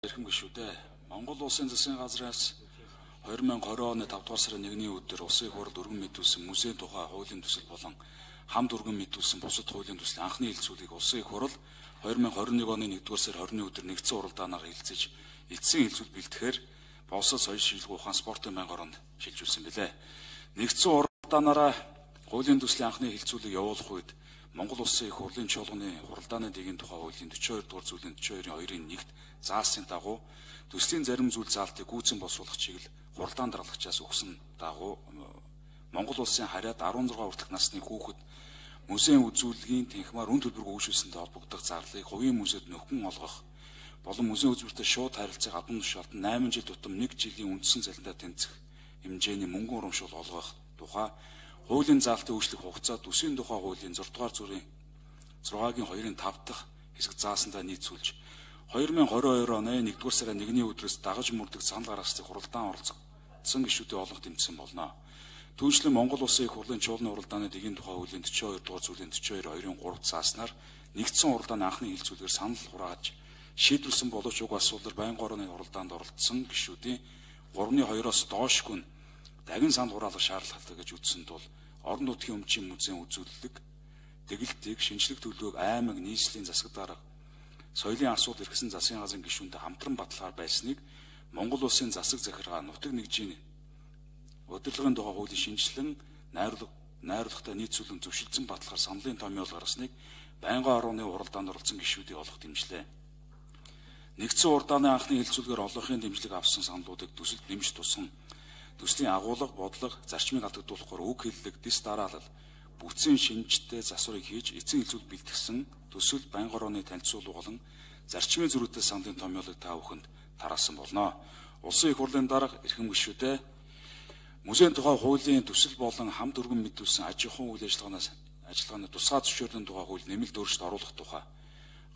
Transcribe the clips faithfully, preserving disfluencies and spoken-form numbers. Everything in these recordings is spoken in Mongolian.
Эрхэм гишүүдээ Монгол Улсын засгийн газраас two thousand twenty оны five дугаар сарын нэгний өдөр Улсын их хурлд өргөн мэдүүлсэн музейн тухай хуулийн төсөл болон хамт өргөн мэдүүлсэн бусад хуулийн төслийн анхны хэлцүүлгийг Улсын их хурл two thousand twenty-one оны one дугаар сарын twenty өдөр нэгдсэн уралдаанаар хэлцэж эцсийн хэлцүүл бэлтгэхээр босол соёл шилжүүлэх ухаан спортын байнгын оронд шилжүүлсэн билээ. Нэгдсэн уралдаанаараа хуулийн төслийн анхны хэлцүүлэг явуулах үед Монгол Улсын их хурлын чуулганы хуралдааны дэгийн тухай хуулийн forty-two дугаар зүйлийн forty-two-ийн two-ын one-т заасан дагуу төслийн зарим зүйл заалтыг гүйцэн босруулах чиглэл хуралдаан даргалагчаас өгсөн дагуу Монгол Улсын харьяад sixteen хүртэлх насны хүүхэд музейн үзүүлгийн тэнхмаар үн төлбөрөөр үйлшүүлсэнтэй холбогдох зарлыг хувийн музейд нөхөн олгох болон музейн үзүүлэлттэй шууд харилцааг албан тушаалд eight жил тутам one жилийн үндсэн цалиндаа тэнцэх хэмжээний мөнгөн урамшуул олгох тухай хуулийн заалтыг үйлчлэх хугацаа төсвийн тухай хуулийн six дугаар зүрийн six-гийн two-ын five дахь хэсэг заасандаа нийцүүлж twenty twenty-two оны one дугаар сарын one-ний өдрөөс дагаж мөрдөг санал гаргахыг хуралдаан оролцсон гишүүдийн олонх тэмцсэн болно. Түүнчлэн Монгол Улсын их хурлын чуулганы уралдааны дэгийн тухай хуулийн forty-two дугаар зүйлийн forty-two two-ийн three зааснаар нэгдсэн уралдааны анхны хэлцүүлгээр санал хурааж шийдвэрсэн боловч уг асуудлаар байнгын орны уралдаанд оролцсон гишүүдийн three-ны two-оос доошгүй дахин санал хураалах шаардлагатай гэж үзсэн тул орон нутгийн өмчийн музейн үзүүлэлт тэгэлтийг шинжлэх төлөвлөгөөг аймаг нийслэлийн засаг дарга соёлын асуудал эрхсэн засгийн газрын гишүүнтэй хамтран баталгаар байсныг Монгол Улсын засаг захиргаа нутаг нэгжийн удирдлагын тухай хуулийн шинжилэн найруулга найруулгатай нийцүүлэн зөвшөлдсөн баталгаар саналын томьёол гаргасныг байнгын орны уралдаанд оролцсон гишүүдийг олох дэмжлээ. Нэгдсэн уралдааны анхны хэлцүүлгээр олонхын дэмжлэг авсан саналуудыг төсөлд нэмж тусган төслийн агуулга, бодлого, зарчмыг алдагдуулахаар үг хэллэг, дис дараалал, бүтцийн шинжтэй засварыг хийж эцсийн хэлцүүл бэлтгэсэн төсөл байнгын орны танилцуулга болон зарчмын зөрүүтэй саналын томьёолыг та бүхэнд тараасан болно. Улсын их хурлын дарга эрхэм гишүүдээ музейн тухай хуулийн төсөл болон хамт өргөн мэдүүлсэн аж ахуйн үйл ажиллагаанаас ажиллагааны тусгай зөвшөөрлөлийн тухай хууль нэмэлт өөрчлөлт оруулах тухай,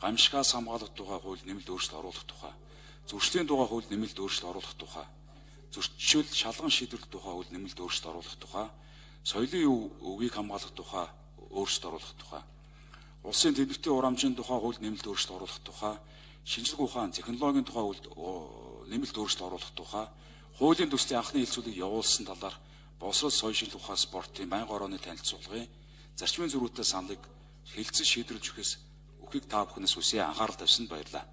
гамшигаас хамгаалах тухай хууль нэмэлт өөрчлөлт оруулах тухай, зөрчлийн тухай хууль нэмэлт өөрчлөлт оруулах тухай, зөрчил шалган шийдвэрлэх тухай хууль нэмэлт өөрчлөлт оруулах тухай, соёлын өвийг хамгаалах тухай өөрчлөлт оруулах тухай, улсын төлөвтэй ур хамжийн тухай хууль нэмэлт өөрчлөлт оруулах тухай, шинжлэх ухаан, технологийн тухай хууль нэмэлт өөрчлөлт оруулах тухай, хуулийн төслийн анхны хэлцүүлгийг явуулсан талаар босрол соёл шилжүүлэх ухаан спортын байнгын орны танилцуулгын зарчмын зөрүүтэй саналыг хэлцэж шийдвэрлэж өгөхөөс өгөхийг та бүхнээс хүсье анхаарал тавьсанд баярлалаа.